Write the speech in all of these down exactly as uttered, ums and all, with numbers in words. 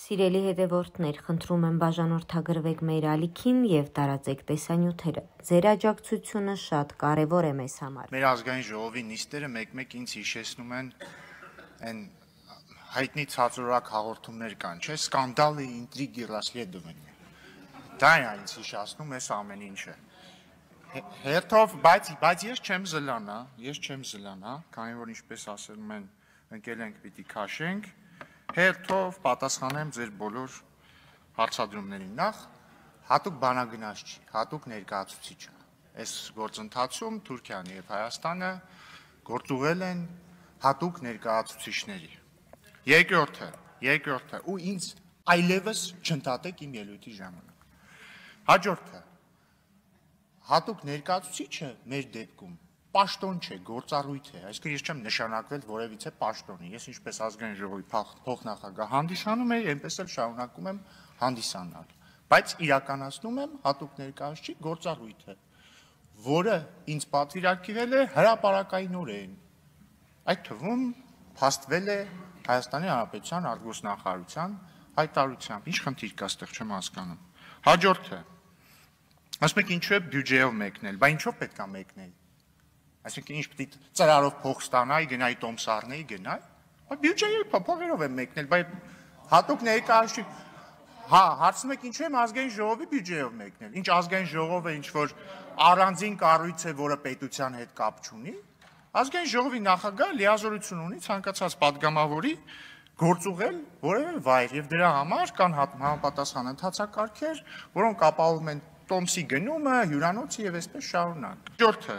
Սիրելի հետևորդներ, խնդրում եմ բաժանորդագրվեք մեր ալիքին և տարածեք տեսանյութերը։ Ձեր աջակցությունը շատ կարևոր է մեզ համար։ Մեր ազգային ժողովի նիստերը մեկ-մեկ ինձ հիշեցնում են այն հայտնի ցածրորակ հաղորդումներ կան, չէ՞, սկանդալը, ինտրիգի, расследование։ Դա է ինձ հիշեցնում էս ամեն ինչը։ Հերթով, բայց բայց ես չեմ զլանա, ես չեմ զլանա, քանի որ ինչպես ասում են, ընկել ենք պիտի քաշենք, հերթով պատասխանեմ ձեր բոլոր հարցադրումներին։ Նախ հատուկ բանագնաց չի, հատուկ ներկայացուցիչ է։ Այս գործընթացում Թուրքիան եւ Հայաստանը գործուղել են հատուկ ներկայացուցիչների։ Երկրորդը, երկրորդը ու ինձ այլևս չընդհատեք իմ ելույթի ժամանակ։ Հաջորդը հատուկ ներկայացուցիչը մեր դեպքում պաշտոն չէ, գործառույթ է, այսինքն ես չեմ նշանակվել որևիցե պաշտոնի, ես ինչպես ազգային ժողովի փոխնախագահ հանդիսանում եմ, այնպես էլ շարունակում եմ հանդիսանալ, բայց իրականացնում եմ հատուկ ներկայացուցիչ գործառույթը, որը ինձ պատվիրակվել է հրապարակայնորեն, այդ թվում փաստվել է Հայաստանի Հանրապետության արտգործնախարարության հայտարարությամբ, ինչ խնդիր կա այստեղ չեմ հասկանում։ Հաջորդը ասում եք ինչու է բյուջեով մեկնել, բա ինչով պետք է մեկնել։ Այսինքն ինչ պետք է ծրարով փող ստանայի, գնայի տոմսառնեի, գնայի։ Բա բյուջեի փողերով եմ մեկնել, բայց հատուկ ներկայացուցիչ, հա, հարցնում եք ինչու եմ ազգային ժողովի բյուջեով մեկնել։ Ինչ ազգային ժողովը ինչ որ առանձին կառույց է, որը պետության հետ կապ չունի։ Ազգային ժողովի նախագահը լիազորություն ունի ցանկացած падգամավորի գործուղել որևէ վայր եւ դրա համար կան համապատասխան ընթացակարգեր, որոնք ապահովում են տոմսի գնումը, հյուրանոցը եւ այսպես շարունակ։ Հաջորդը։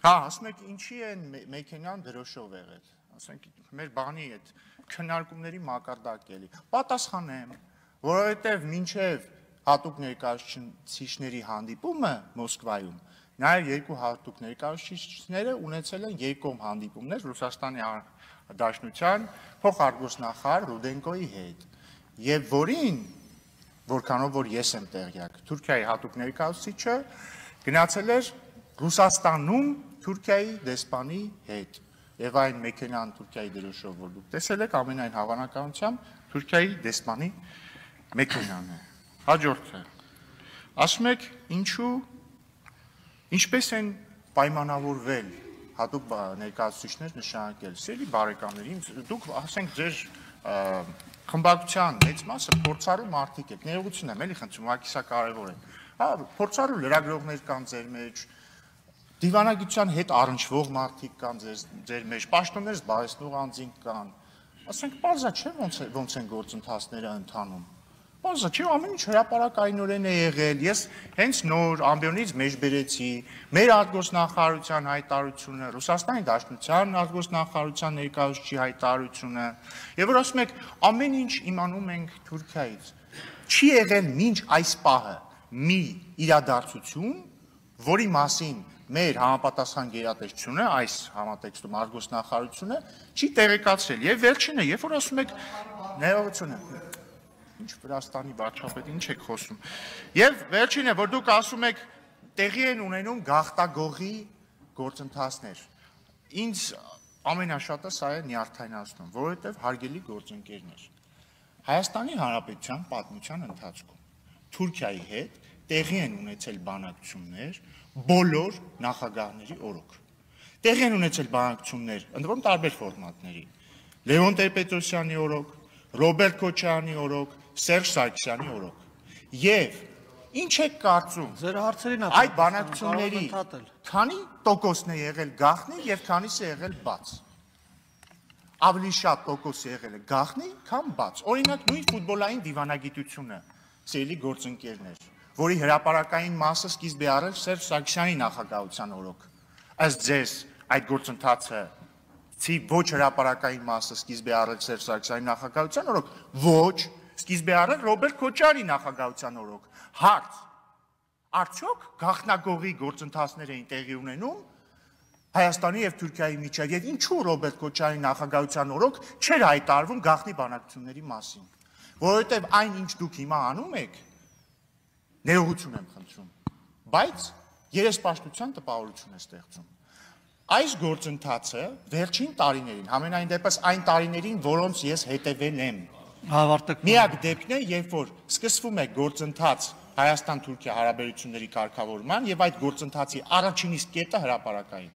Հա, ասում եք ինչի են մեքենան դրոշով եղել։ Ասենք մեր բանի այդ քննարկումների մակարդակ էլի։ Պատասխանեմ, որովհետեւ մինչեւ հատուկ ներկայացուցիչների հանդիպումը Մոսկվայում նաեւ երկու հատուկ ներկայացուցիչները ունեցել են երկկողմ հանդիպումներ Ռուսաստանի Դաշնության փոխարտգործնախարար Ռուդենկոյի հետ, եւ որին որքանով որ ես եմ տեղյակ, Թուրքիայի հատուկ ներկայացուցիչը գնացել էր Ռուսաստանում Թուրքիայի դեսպանի հետ եւ այն մեքենան Թուրքիայի դրոշով որ դուք տեսել եք ամենայն հավանականությամբ Թուրքիայի դեսպանի մեքենան է։ Հաջորդը ասում եք ինչու ինչպես են պայմանավորվել հատուկ ներկայացուցիչներ նշանակել։ Սիրելի բարեկամներ, դուք ասենք ձեր խմբակցության մեծ մասը փորձառու մարդիկ եք, ներողություն եմ, էլի խնդրում, ուղղակի սա կարևոր է։ Հա, փորձառու լրագրողներ կան ձեր մեջ, դիվանագիտության հետ առնչվող մարդիկ կան ձեր մեջ, պաշտոններ զբաղեցնող անձինք կան։ Ասենք բարձա չէ ոնց են գործընթացները ընթանում։ Բարձա չէ, ամեն ինչ հրապարակայնորեն է եղել։ Ես հենց նոր ամբիոնից մեջ բերեցի մեր արտգործնախարարության հայտարարությունը, Ռուսաստանի Դաշնության արտգործնախարարության ներկայացուցիչի հայտարարությունը, եւ որ ասում եք ամեն ինչ իմանում ենք Թուրքիայից։ Չի եղել մինչ այս պահը մի իրադարձություն, որի մասին մեր համապատասխան գերատեսչությունը, այս համատեքստում արտգործնախարարությունը չի տեղեկացրել։ Եվ վերջինը, երբ որ ասում եք ներողություն ինչ Վրաստանի վարչապետ, ինչ եք խոսում։ Եվ վերջինը, որ դուք ասում եք տեղի են ունենում գաղտագողի գործընթացներ։ Ինձ ամենաշատը սա է նյարդայնացնում, որովհետև հարգելի գործընկերներ, Հայաստանի Հանրապետության պատմության ընթացքում Թուրքիայի հետ տեղի են ունեցել բանակցություններ բոլոր նախագահների օրոք։ Տեղի են ունեցել բանակցություններ, ընդ որում տարբեր ֆորմատների։ Լևոն Տեր-Պետրոսյանի օրոք, Ռոբերտ Քոչարյանի օրոք, Սերժ Սարգսյանի օրոք։ Եվ ինչ եք կարծում, ձեր հարցերին այդ բանակցությունների քանի տոկոսն է եղել գաղտնի եւ քանիսը եղել բաց։ Ավելի շատ տոկոս եղել է գաղտնի, քան բաց։ Օրինակ նույն ֆուտբոլային դիվանագիտությունը, սիրելի գործընկերներ, որի հրապարակային մասը սկիզբ է առել Սերժ Սարգսյանի նախագահության օրոք։ Ըստ ձեզ այդ գործընթացը Չի ոչ հրապարակային մասը սկիզբ է առել Սերժ Սարգսյանի նախագահության օրոք, ոչ սկիզբ է առել Ռոբերտ Քոչարյանի նախագահության օրոք։ Հարց. արդյոք գաղտնագողի գործընթացներ էին տեղի ունենում Հայաստանի եւ Թուրքիայի միջեւ եւ ինչու Ռոբերտ Քոչարյանի նախագահության օրոք չէր հայտարարվում գաղտնի բանակցությունների մասին։ Որովհետեւ այն ինչ դուք հիմա անում եք, ներողություն եմ խնդրում, բայց երեսպաշտության տպավորություն է ստեղծում։ Այս գործընթացը վերջին տարիներին, համենայն դեպս այն տարիներին, որոնց ես հետևել եմ, միակ դեպքն է, երբ որ սկսվում է գործընթաց Հայաստան-Թուրքիա հարաբերությունների կարգավորման եւ այդ գործընթացի առաջին իսկ կետը հրապարակային